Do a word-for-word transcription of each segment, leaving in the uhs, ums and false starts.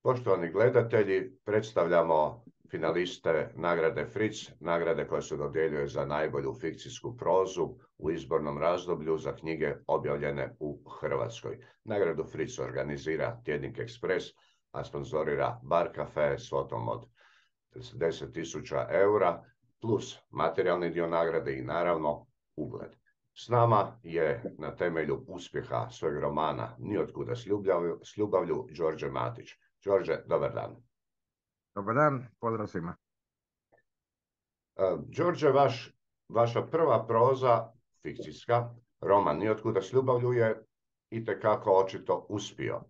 Poštovani gledatelji, predstavljamo finaliste nagrade Fritz, nagrade koja se dodjeljuje za najbolju fikcijsku prozu u izbornom razdoblju za knjige objavljene u Hrvatskoj. Nagradu Fritz organizira Tjednik Ekspres, a sponzorira Bar Cafe s svotom od deset tisuća eura, plus materijalni dio nagrade i naravno ugled. S nama je na temelju uspjeha svojeg romana Niotkuda s ljubavlju, s ljubavlju Đorđe Matić. Đorđe, dobar dan. Dobar dan, pozdrav svima. Uh, Đorđe, vaš, vaša prva proza, fikcijska, roman Niotkuda s ljubavlju je itekako očito uspio.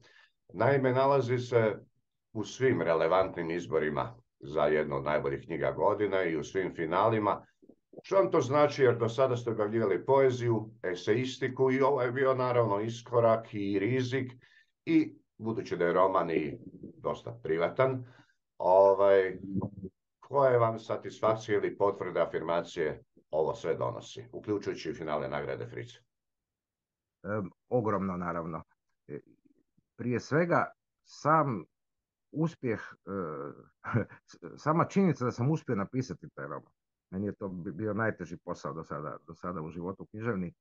Naime, nalazi se u svim relevantnim izborima za jednu od najboljih knjiga godine i u svim finalima. Što vam to znači, jer do sada ste objavljivali poeziju, eseistiku i ovo je bio naravno iskorak i rizik i budući da je roman i dosta privatan, ovaj, koje vam satisfakcije ili potvrde, afirmacije ovo sve donosi, uključujući i finale nagrade Fritz? Um, ogromno, naravno. Prije svega, sam uspjeh, uh, sama činjenica da sam uspio napisati taj roman. Meni je to bio najteži posao do sada, do sada u životu književni.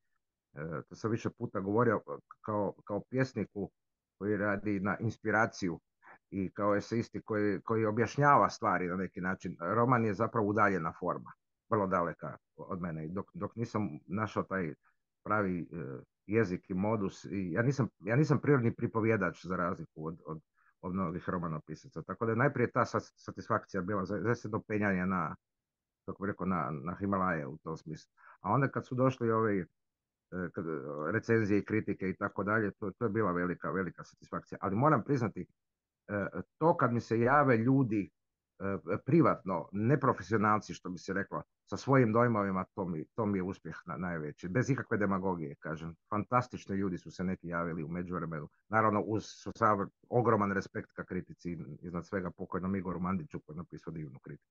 Uh, to sam više puta govorio kao, kao pjesniku koji radi na inspiraciju i kao eseisti koji, koji objašnjava stvari na neki način. Roman je zapravo udaljena forma, vrlo daleka od mene. Dok, dok nisam našao taj pravi uh, jezik i modus, i ja nisam, ja nisam prirodni pripovjedač za razliku od, od, od mnogih romanopisaca. Tako da je najprije ta satisfakcija bila za se do penjanja na, kako bi rekao, na, na Himalaje u tom smislu. A onda kad su došli ovi kad, recenzije i kritike i tako dalje, to, to je bila velika, velika satisfakcija. Ali moram priznati, to kad mi se jave ljudi privatno, neprofesionalci, što bi se reklo, sa svojim dojmovima, to mi, to mi je uspjeh na, najveći. Bez ikakve demagogije, kažem. Fantastični ljudi su se neki javili u međuvremenu. Naravno, uz sav ogroman respekt ka kritici, iznad svega pokojnom Igoru Mandiću, koji je napisao divnu kritiku.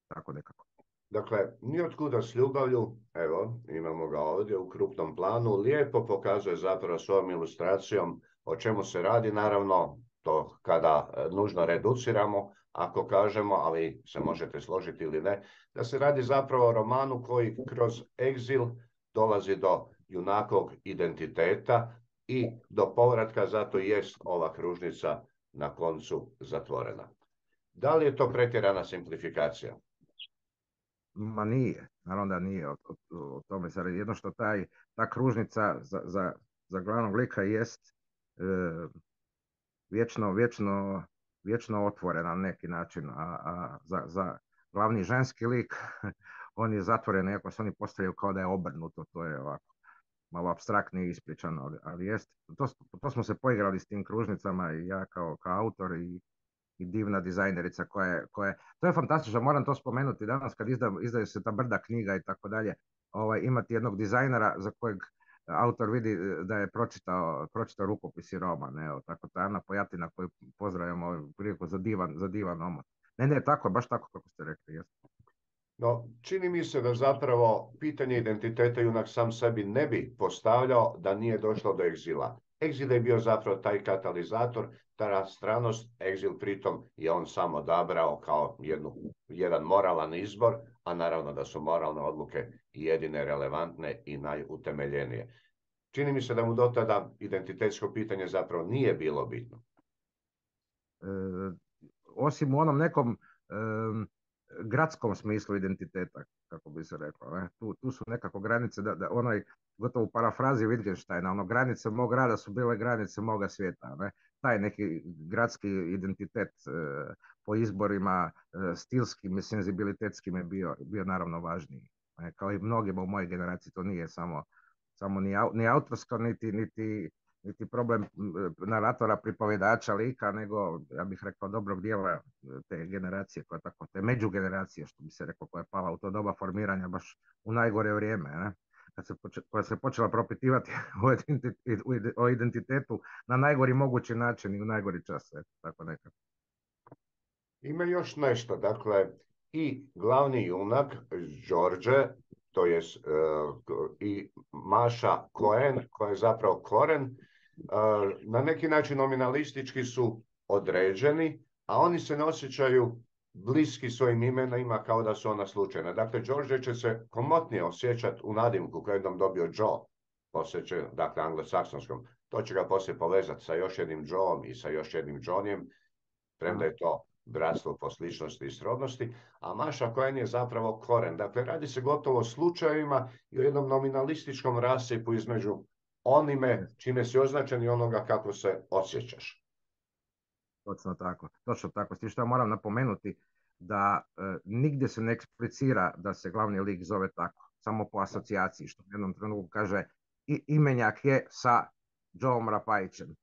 Tako nekako. Dakle, Niotkuda s ljubavlju, evo, imamo ga ovdje u krupnom planu, lijepo pokazuje zapravo svojom ilustracijom o čemu se radi, naravno, to kada nužno reduciramo, ako kažemo, ali se možete složiti ili ne, da se radi zapravo o romanu koji kroz egzil dolazi do junakog identiteta i do povratka, zato jest ova kružnica na koncu zatvorena. Da li je to pretjerana simplifikacija? Ma nije, naravno da nije, o, o, o tome se radi. Jedno što taj, ta kružnica za, za, za glavnog lika jest e, vječno, vječno, vječno otvorena na neki način, a, a za, za glavni ženski lik on je zatvoren, iako se oni postavljaju kao da je obrnuto, to je ovako malo apstraktnije ispričano, ali, ali jest, to, to smo se poigrali s tim kružnicama i ja kao, kao autor i i divna dizajnerica koja je, koja je, to je fantastično, moram to spomenuti danas kad izda, izdaju se ta brda knjiga i tako dalje, ovaj, imati jednog dizajnera za kojeg autor vidi da je pročitao, pročitao rukopis i roman, evo, tako ta Ana Pojatina koju pozdravljamo ovaj, priliku za divan, za divan omot. Ne, ne, tako, baš tako kako ste rekli, jesmo. No, čini mi se da zapravo pitanje identiteta junak sam sebi ne bi postavljao da nije došlo do egzila. Egzil je bio zapravo taj katalizator, ta stranost, egzil pritom je on sam odabrao kao jednu, jedan moralan izbor, a naravno da su moralne odluke jedine relevantne i najutemeljenije. Čini mi se da mu do tada identitetsko pitanje zapravo nije bilo bitno. E, osim u onom nekom e, gradskom smislu identiteta, kako bi se reklo. Ne? Tu, tu su nekako granice, da, da onaj, gotovo u parafrazi Wittgensteina, ono, granice mog grada su bile granice moga svijeta. Ne? Taj neki gradski identitet e, po izborima, e, stilskim i senzibilitetskim je bio, bio naravno važniji. Ne? Kao i mnogima u mojoj generaciji, to nije samo, samo ni, au, ni autorsko, niti, niti, niti problem naratora, pripovjedača, lika, nego, ja bih rekao, dobrog dijela te generacije, koja tako, te međugeneracije, što bi se rekao, koja je pala u to doba formiranja baš u najgore vrijeme, ne? Kad se poče, koja se počela propitivati o, identitet, o identitetu na najgori mogući način i u najgori čas, eto, tako nekako. Ima još nešto, dakle, i glavni junak, Đorđe, to je uh, i Maša Cohen, koja je zapravo Koren, na neki način nominalistički su određeni, a oni se ne osjećaju bliski svojim imenima kao da su ona slučajna. Dakle, George će se komotnije osjećati u nadimku koji je jednom dobio Joe, posjećen, dakle, anglosaksonskom. To će ga poslije povezati sa još jednim Joeom i sa još jednim Johnnyem, premda je to bratstvo po sličnosti i srodnosti, a Maša Cohen je zapravo koren. Dakle, radi se gotovo o slučajevima i o jednom nominalističkom rasipu između onime čime si označen i onoga kako se osjećaš. Točno tako, točno tako. S tim što ja moram napomenuti da e, nigdje se ne eksplicira da se glavni lik zove tako, samo po asocijaciji, što u jednom trenutku kaže i imenjak je sa Joeom Rapajićem,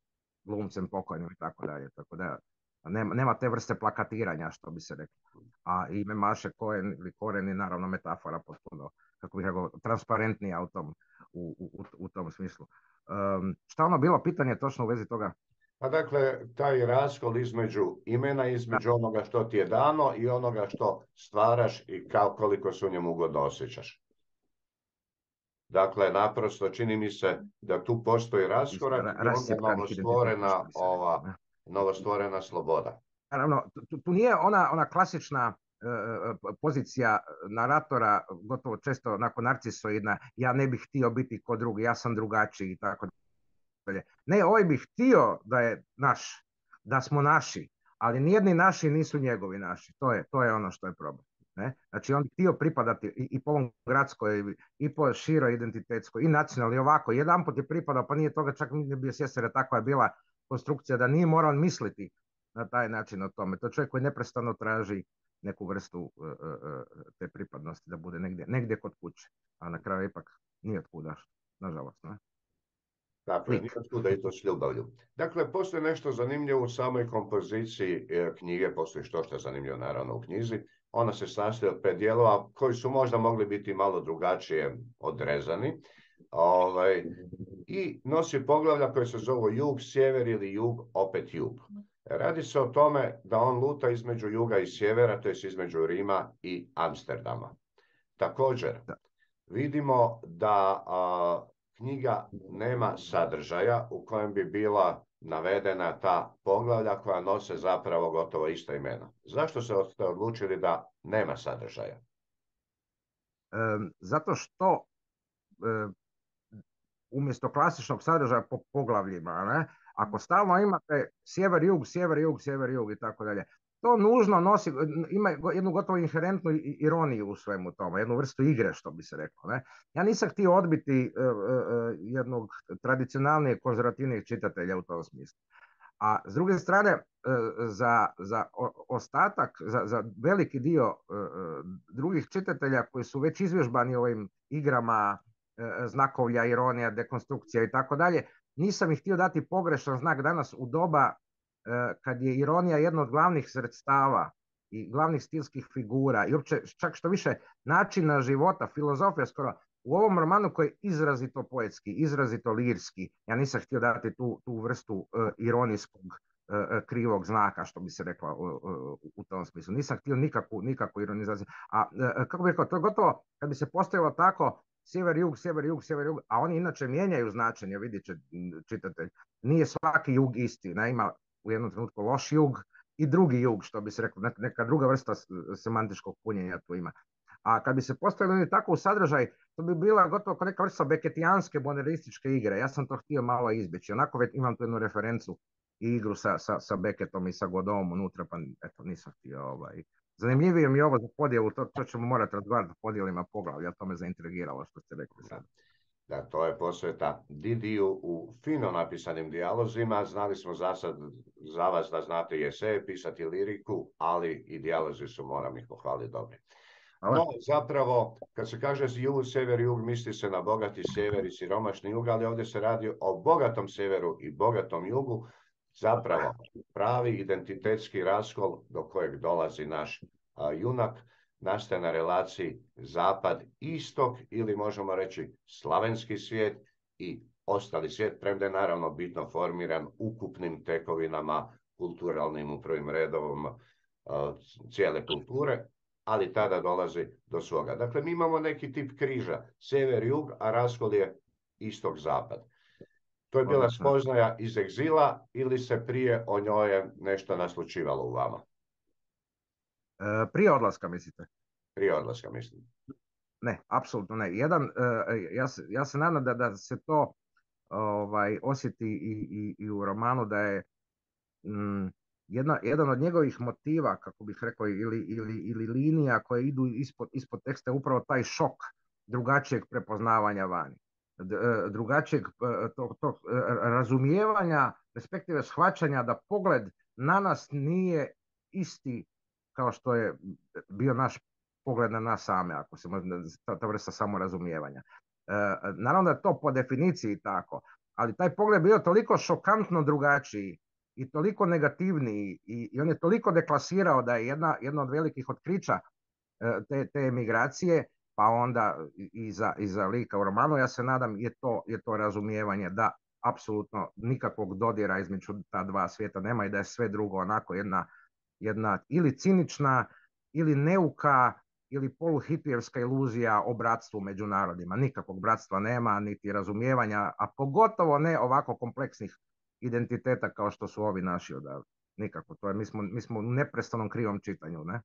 glumcem pokojnim i tako dalje. Tako da nema, nema te vrste plakatiranja, što bi se reklo. A ime Maše Cohen ili Koren je naravno metafora potpuno, kako bih rekao, transparentnija u tom, u, u, u tom smislu. Um, šta ono bilo pitanje točno u vezi toga? Pa dakle, taj raskol između imena, između da. onoga što ti je dano i onoga što stvaraš i kao koliko se u njemu ugodno osjećaš. Dakle, naprosto čini mi se da tu postoji raskorak i onda novostvorena, ova, novostvorena sloboda. Naravno, tu, tu nije ona, ona klasična uh, pozicija naratora, gotovo često nakon narcisoidna, ja ne bih htio biti kod drugi, ja sam drugačiji i tako dalje. Ne, ovaj bih htio da je naš, da smo naši, ali nijedni naši nisu njegovi naši. To je, to je ono što je problem. Ne? Znači on bi htio pripadati i, i po ovom gradskoj, i po široj identitetskoj, i nacionalnoj, i ovako. Jedan put je pripadao, pa nije toga čak nije bio svjestan, jer takva je bila konstrukcija da nije morao misliti na taj način o tome. To je čovjek koji neprestano traži neku vrstu uh, uh, te pripadnosti, da bude negdje, negdje kod kuće. A na kraju ipak nije od kuda, nažalost. Ne? Dakle, nije od kuda i to s ljubavlju. Dakle, postoji nešto zanimljivo u samoj kompoziciji knjige, postoji što što je zanimljivo naravno u knjizi. Ona se sastoji od pet dijelova koji su možda mogli biti malo drugačije odrezani. Ovaj, i nosi poglavlja koje se zovu jug, sjever ili jug, opet jug. Radi se o tome da on luta između juga i sjevera, to je između Rima i Amsterdama. Također, vidimo da a, knjiga nema sadržaja u kojem bi bila navedena ta poglavlja koja nose zapravo gotovo ista imena. Zašto ste odlučili da nema sadržaja? E, zato što e, umjesto klasičnog sadržaja po poglavljima, ne, ako stalno imate sjever, jug, sjever, jug, sjever, jug i tako dalje, to nužno nosi, ima jednu gotovo inherentnu ironiju u svemu tome, jednu vrstu igre, što bi se reklo. Ne? Ja nisam htio odbiti uh, uh, jednog tradicionalnijeg konzervativnijeg čitatelja u tom smislu. A s druge strane, uh, za, za ostatak, za, za veliki dio uh, drugih čitatelja koji su već izvježbani ovim igrama uh, znakovlja, ironija, dekonstrukcija i tako dalje, nisam ih htio dati pogrešan znak danas u doba kad je ironija jedno od glavnih sredstava i glavnih stilskih figura i uopće čak što više načina života, filozofija skoro, u ovom romanu koji je izrazito poetski, izrazito lirski, ja nisam htio dati tu, tu vrstu uh, ironijskog uh, krivog znaka, što bi se rekla uh, uh, u tom smislu. Nisam htio nikakvu, nikakvu ironizaciju. A uh, kako bih rekao, to je gotovo, kad bi se postavilo tako, sjever, jug, sjever, jug, sjever, jug, a oni inače mijenjaju značenje, vidit će čitatelj. Nije svaki jug isti, ne, ima u jednom trenutku loš jug i drugi jug, što bi se reklo, neka druga vrsta semantičkog punjenja tu ima. A kad bi se postavili tako u sadržaj, to bi bila gotovo kao neka vrsta beketijanske bonerističke igre. Ja sam to htio malo izbjeći. Onako već imam tu jednu referencu i igru sa, sa, sa Beckettom i sa Godom unutra, pa eto, nisam htio. Ovaj. Zanimljivije mi je ovo za podjelu, to, to ćemo morati razgovarati o podjelima poglavlja, to me zaintrigiralo što ste rekli sad. Da, to je posveta Didiju u fino napisanim dijalozima. Znali smo za sad, za vas da znate i eseje, pisati liriku, ali i dijalozi su, moram ih pohvaliti, dobri. No, zapravo, kad se kaže jug, sjever, jug, misli se na bogati sjever i siromašni jug, ali ovdje se radi o bogatom sjeveru i bogatom jugu. Zapravo, pravi identitetski raskol do kojeg dolazi naš a, junak, nastaje na relaciji zapad-istok ili možemo reći slavenski svijet i ostali svijet, premda je naravno bitno formiran ukupnim tekovinama, kulturalnim u prvim redovom uh, cijele kulture, ali tada dolazi do svoga. Dakle, mi imamo neki tip križa, sjever-jug, a raskol je istok-zapad. To je bila Odlično. spoznaja iz egzila ili se prije o njoj nešto naslučivalo u vama? E, prije odlaska, mislite? Prije odlaska, mislim. Ne, apsolutno ne. Jedan, e, ja, se, ja se nadam da, da se to ovaj, osjeti i, i, i u romanu, da je mm, jedna, jedan od njegovih motiva, kako bih rekao, ili, ili, ili linija koje idu ispod, ispod teksta je upravo taj šok drugačijeg prepoznavanja vani. Drugačijeg tog, tog razumijevanja, respektive shvaćanja da pogled na nas nije isti kao što je bio naš pogled na nas same, ako se može, ta, ta vrsta samorazumijevanja. E, naravno da je to po definiciji tako, ali taj pogled bio toliko šokantno drugačiji i toliko negativniji i, i on je toliko deklasirao da je jedna, jedna od velikih otkrića te, te emigracije, pa onda i za, i za lika u romanu, ja se nadam, je to, je to razumijevanje da apsolutno nikakvog dodira između ta dva svijeta nema i da je sve drugo onako jedna, jedna ili cinična, ili neuka, ili poluhipijevska iluzija o bratstvu među narodima. Nikakvog bratstva nema, niti razumijevanja, a pogotovo ne ovako kompleksnih identiteta kao što su ovi naši odavde. Nikako. To je, mi, smo, mi smo u neprestanom krivom čitanju, ne?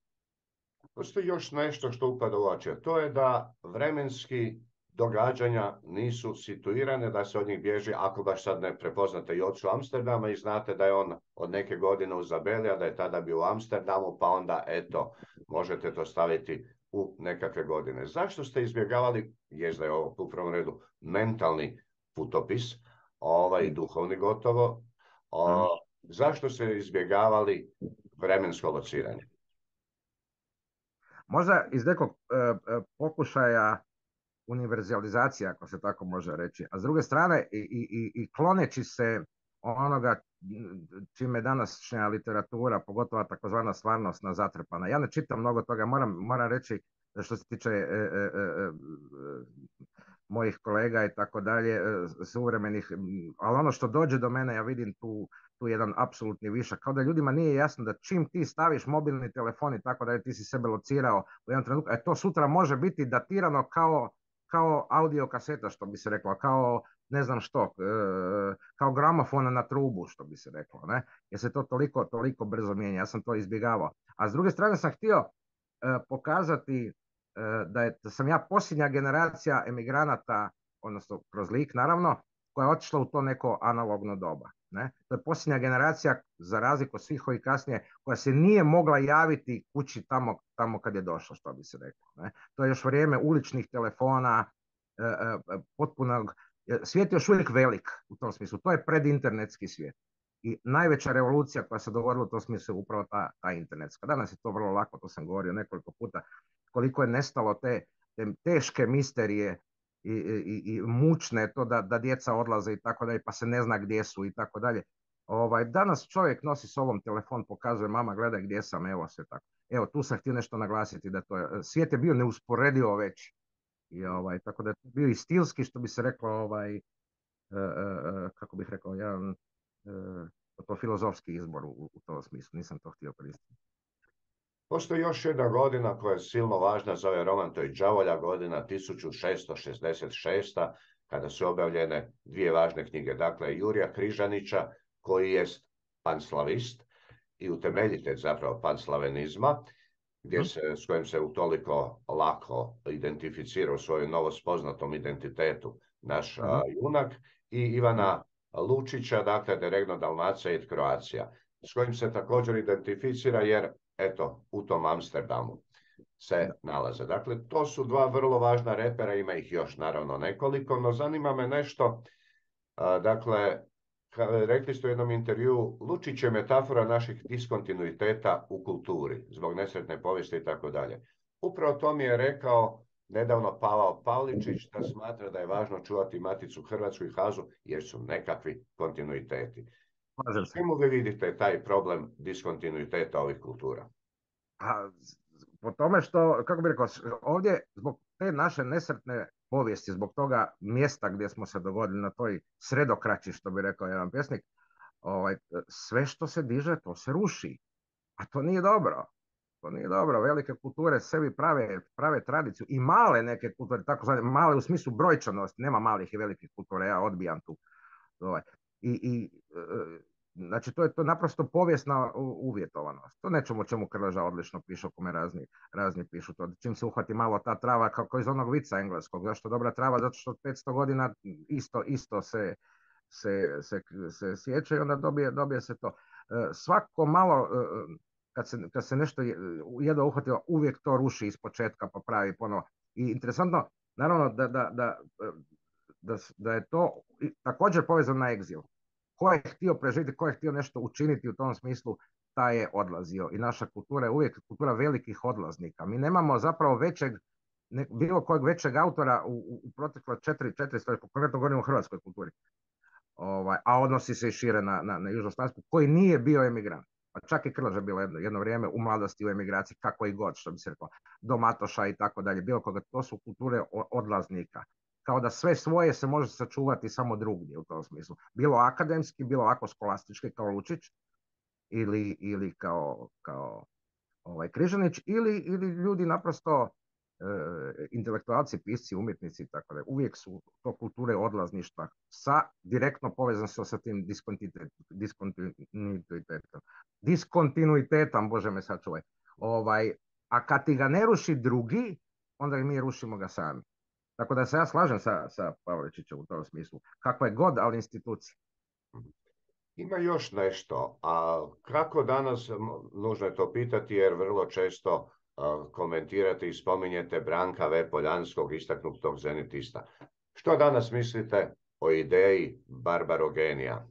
Postoji još nešto što upada u oči, to je da vremenski događanja nisu situirane, da se od njih bježi, ako baš sad ne prepoznate i ocu Amsterdama i znate da je on od neke godine u Zabeli, a da je tada bio u Amsterdamu, pa onda eto, možete to staviti u nekakve godine. Zašto ste izbjegavali, jest da je ovo u prvom redu mentalni putopis, ovaj duhovni gotovo, o, zašto ste izbjegavali vremensko lociranje? Možda iz nekog e, pokušaja univerzalizacije, ako se tako može reći, a s druge strane i, i, i kloneći se onoga čime današnja literatura, pogotovo takozvana stvarnostna, zatrpana. Ja ne čitam mnogo toga, moram, moram reći što se tiče e, e, e, mojih kolega i tako dalje, suvremenih, ali ono što dođe do mene, ja vidim tu, tu jedan apsolutni višak, kao da ljudima nije jasno da čim ti staviš mobilni telefon i tako dalje, ti si sebe locirao u jednom trenutku, a to sutra može biti datirano kao, kao audio kaseta, što bi se reklo, kao ne znam što, kao gramofon na trubu, što bi se reklo, ne? Jer se to toliko, toliko brzo mijenja, ja sam to izbjegavao. A s druge strane sam htio pokazati da, je, da sam ja posljednja generacija emigranata, odnosno kroz lik naravno, koja je otišla u to neko analogno doba. Ne? To je posljednja generacija, za razliku od svih ovih kasnije, koja se nije mogla javiti kući tamo, tamo kad je došla, što bi se reklo. Ne? To je još vrijeme uličnih telefona, e, e, potpunog, svijet je još uvijek velik u tom smislu. To je predinternetski svijet. I najveća revolucija koja se dogodila u tom smislu je upravo ta, ta internetska. Danas je to vrlo lako, to sam govorio nekoliko puta, koliko je nestalo te, te teške misterije i, i, i mučne, to da, da djeca odlaze i tako dalje, pa se ne zna gdje su i tako dalje. Ovaj, danas čovjek nosi s ovom telefon, pokazuje, mama gledaj gdje sam, evo sve tako. Evo, tu sam htio nešto naglasiti, da to je, svijet je bio neusporedivo veći. I, ovaj, tako da je bio i stilski, što bi se reklo, ovaj, e, e, kako bih rekao, jedan e, to filozofski izbor u, u tom smislu, nisam to htio koristiti. Postoji još jedna godina koja je silno važna za ovaj roman, to je đavolja godina tisuću šesto šezdeset šesta. kada su objavljene dvije važne knjige. Dakle, Jurija Križanića, koji je panslavist i utemeljitelj zapravo panslavenizma, gdje se, s kojim se utoliko lako identificira u svojem novospoznatom identitetu naš uh, junak, i Ivana Lučića, dakle, De Regno Dalmacija et Croatia, s kojim se također identificira jer, eto, u tom Amsterdamu se nalaze. Dakle, to su dva vrlo važna repera, ima ih još naravno nekoliko, no zanima me nešto, a, dakle, rekli ste u jednom intervju, Lučić je metafora naših diskontinuiteta u kulturi, zbog nesretne povijesti i tako dalje. Upravo to mi je rekao nedavno Pavao Pavličić, da smatra da je važno čuvati Maticu Hrvatsku i Hazu, jer su nekakvi kontinuiteti. Čemu vi vidite taj problem diskontinuiteta ovih kultura? A, po tome što, kako bih rekao, ovdje zbog te naše nesretne povijesti, zbog toga mjesta gdje smo se dogodili na toj sredokraći, što bi rekao jedan pjesnik, ovaj, sve što se diže, to se ruši. A to nije dobro. To nije dobro. Velike kulture sebi prave, prave tradiciju i male neke kulture, tako zvane, male u smislu brojčanosti, nema malih i velikih kultura, ja odbijam tu Ovaj. I, i znači, to je to naprosto povijesna uvjetovanost. To nečemu čemu Krleža odlično piše, o kome razni, razni pišu to. Čim se uhvati malo ta trava, kako iz onog vica engleskog. Zašto dobra trava? Zato što petsto godina isto, isto se, se, se, se sjeća i onda dobije, dobije se to. Svako malo, kad se, kad se nešto jedva uhvatilo, uvijek to ruši iz početka pa pravi ponovo. I interesantno, naravno, da, da, da, da, da je to također povezano na egzil. Ko je htio preživjeti, ko je htio nešto učiniti u tom smislu, taj je odlazio. I naša kultura je uvijek kultura velikih odlaznika. Mi nemamo zapravo većeg, ne, bilo kojeg većeg autora u, u proteklo četiri, četiri stoljeća, konkretno govorimo o hrvatskoj kulturi, ovaj, a odnosi se i šire na, na, na Južnoslavensku, koji nije bio emigrant. Pa čak i Krleža bilo jedno, jedno vrijeme u mladosti u emigraciji, kako i god, što bi se rekao, do Matoša i tako dalje, bilo koga. To su kulture odlaznika. Kao da sve svoje se može sačuvati samo drugdje u tom smislu. Bilo akademski, bilo ako skolastički kao Lučić ili, ili kao, kao ovaj, Križanić, ili, ili ljudi naprosto e, intelektualci, pisci, umjetnici i tako da. Uvijek su to kulture odlazništva sa direktno povezan sa tim diskontinuitetom. Diskontinuitetom, Bože me sačuvaj. Ovaj, a kad ti ga ne ruši drugi, onda mi rušimo ga sami. Tako da se ja slažem sa, sa Pavličićem u tom smislu. Kakva je god, ali institucija. Ima još nešto, a kako danas, nužno je to pitati jer vrlo često a, komentirate i spominjete Branka V. Poljanskog, istaknutog zenitista. Što danas mislite o ideji barbarogenija?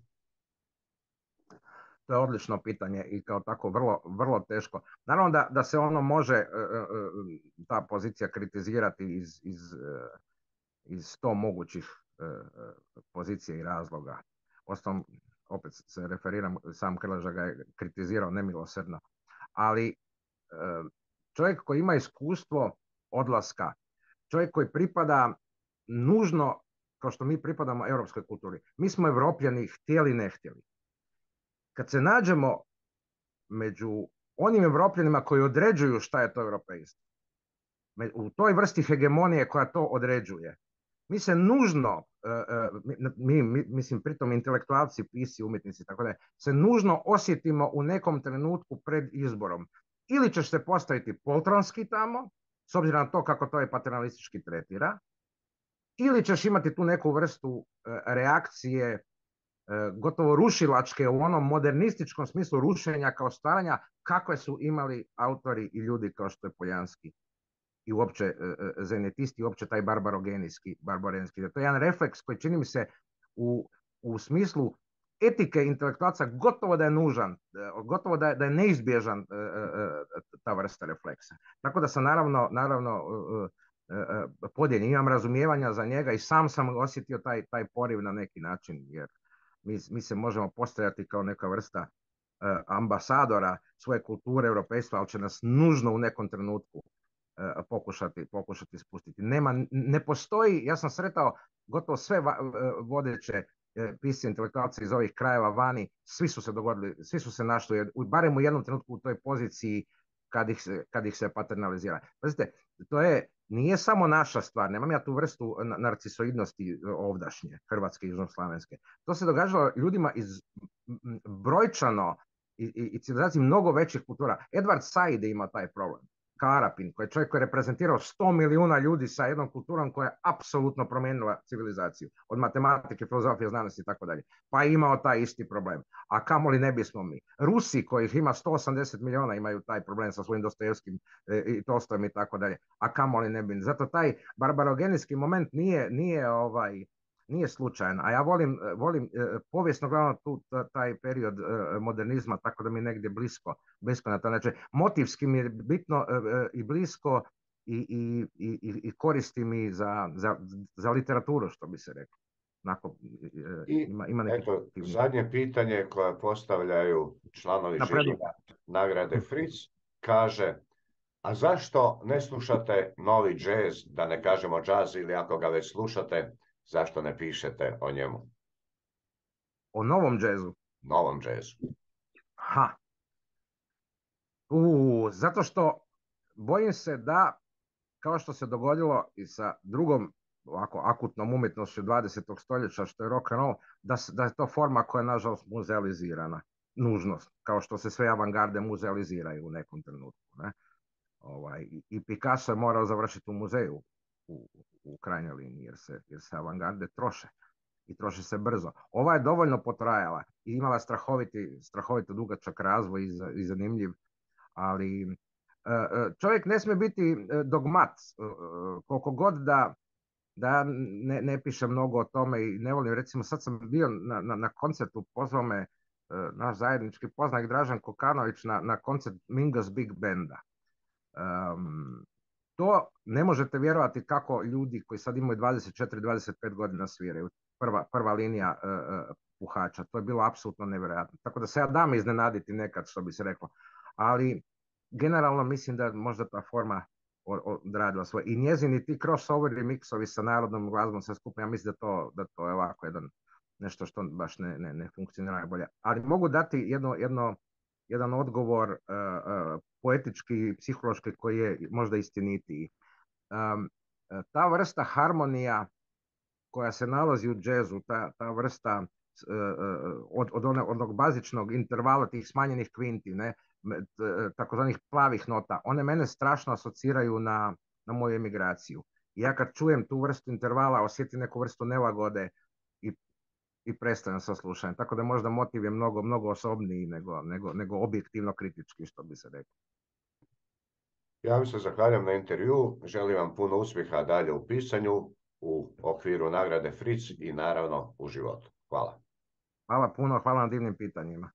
To je odlično pitanje i kao tako vrlo, vrlo teško. Naravno da, da se ono može, ta pozicija kritizirati iz, iz, iz sto mogućih pozicija i razloga. Ostalom, opet se referiram, sam Krleža ga je kritizirao nemilosrdno. Ali čovjek koji ima iskustvo odlaska, čovjek koji pripada nužno, kao što mi pripadamo europskoj kulturi. Mi smo Evropljani, htjeli ne htjeli. Kad se nađemo među onim Evropljanima koji određuju šta je to europeizam, u toj vrsti hegemonije koja to određuje, mi se nužno, mi, mi, mislim pritom intelektualci, pisci, umjetnici, tako da se nužno osjetimo u nekom trenutku pred izborom. Ili ćeš se postaviti poltronski tamo, s obzirom na to kako to je paternalistički tretira, ili ćeš imati tu neku vrstu reakcije gotovo rušilačke u onom modernističkom smislu rušenja kao stvaranja kakve su imali autori i ljudi kao što je Poljanski i uopće zenetisti i uopće taj barbarogenijski, barbarenski. To je jedan refleks koji čini mi se u, u smislu etike intelektualca gotovo da je nužan, gotovo da je, da je neizbježan ta vrsta refleksa. Tako da sam naravno, naravno podijeljen, imam razumijevanja za njega i sam sam osjetio taj, taj poriv na neki način, jer Mi, mi se možemo postavljati kao neka vrsta uh, ambasadora svoje kulture, europejstva, ali će nas nužno u nekom trenutku uh, pokušati, pokušati spustiti. Nema, ne postoji, ja sam sretao gotovo sve va, uh, vodeće uh, pisci, intelektualci iz ovih krajeva vani, svi su se dogodili, svi su se našli, u, barem u jednom trenutku u toj poziciji kad ih se, kad ih se paternalizira. Pazite, to je, nije samo naša stvar, nemam ja tu vrstu narcisoidnosti ovdašnje, hrvatske i južnoslavenske. To se događalo ljudima iz brojčano i, i, i civilizaciji mnogo većih kultura. Edward Said je imao taj problem. Karapin, koji je čovjek koji je reprezentirao sto milijuna ljudi sa jednom kulturom koja je apsolutno promijenila civilizaciju. Od matematike, filozofije, znanosti i tako dalje. Pa je imao taj isti problem. A kamoli ne bismo mi. Rusi, kojih ima sto osamdeset milijuna, imaju taj problem sa svojim Dostojevskim e, i Tolstojem i tako dalje. A kamoli ne bi. Zato taj barbarogenijski moment nije, nije ovaj... nije slučajan, a ja volim, volim povijesno gledano tu taj period modernizma, tako da mi negdje blisko, blisko na taj način. Motivski mi je bitno i blisko i, i, i, i koristi mi za, za, za literaturu, što bi se reklo. Onako, I ima, ima neki eto, zadnje pitanje koje postavljaju članovi žirija nagrade Fritz kaže: a zašto ne slušate novi džez, da ne kažemo džaz, ili ako ga već slušate, zašto ne pišete o njemu? O novom džezu? Novom džezu. Ha. U, zato što bojim se da, kao što se dogodilo i sa drugom ovako akutnom umjetnošću dvadesetog stoljeća, što je rock and roll, da, da je to forma koja je nažalost muzealizirana. Nužnost, kao što se sve avangarde muzealiziraju u nekom trenutku. Ne? Ovaj, I Picasso je morao završiti u muzeju u, u krajnjoj liniji, jer se, jer se avangarde troše. I troši se brzo. Ova je dovoljno potrajala i imala strahoviti, strahovito dugačak razvoj i, i zanimljiv, ali čovjek ne smije biti dogmat, koliko god da, da ne, ne piše mnogo o tome i ne volim, recimo sad sam bio na, na, na koncertu, pozvao me naš zajednički poznanik Dražen Kokanović na, na koncert Mingus Big Banda. Um, to ne možete vjerovati kako ljudi koji sad imaju dvadeset četiri dvadeset pet godina sviraju. Prva, prva linija uh, puhača. To je bilo apsolutno nevjerojatno. Tako da se ja dam iznenaditi nekad, što bi se reklo. Ali generalno mislim da možda ta forma odradila svoje. I njezini ti crossoveri, miksovi sa narodnom glazbom sve skupa, ja mislim da to, da to je ovako jedan, nešto što baš ne, ne, ne funkcionira najbolje. Ali mogu dati jedno, jedno, jedan odgovor uh, uh, poetički i psihološki koji je možda istinitiji. Um, ta vrsta harmonija koja se nalazi u džezu, ta, ta vrsta uh, od, od, one, od onog bazičnog intervala, tih smanjenih kvinti, ne, takozvanih plavih nota, one mene strašno asociraju na, na moju emigraciju. I ja kad čujem tu vrstu intervala, osjetim neku vrstu nelagode i, i prestajem sa slušanjem. Tako da možda motiv je mnogo, mnogo osobniji nego, nego, nego objektivno kritički, što bi se reklo. Ja vam se zahvaljam na intervju, želim vam puno uspjeha dalje u pisanju, u okviru nagrade Fritz i naravno u životu. Hvala. Hvala puno, hvala na divnim pitanjima.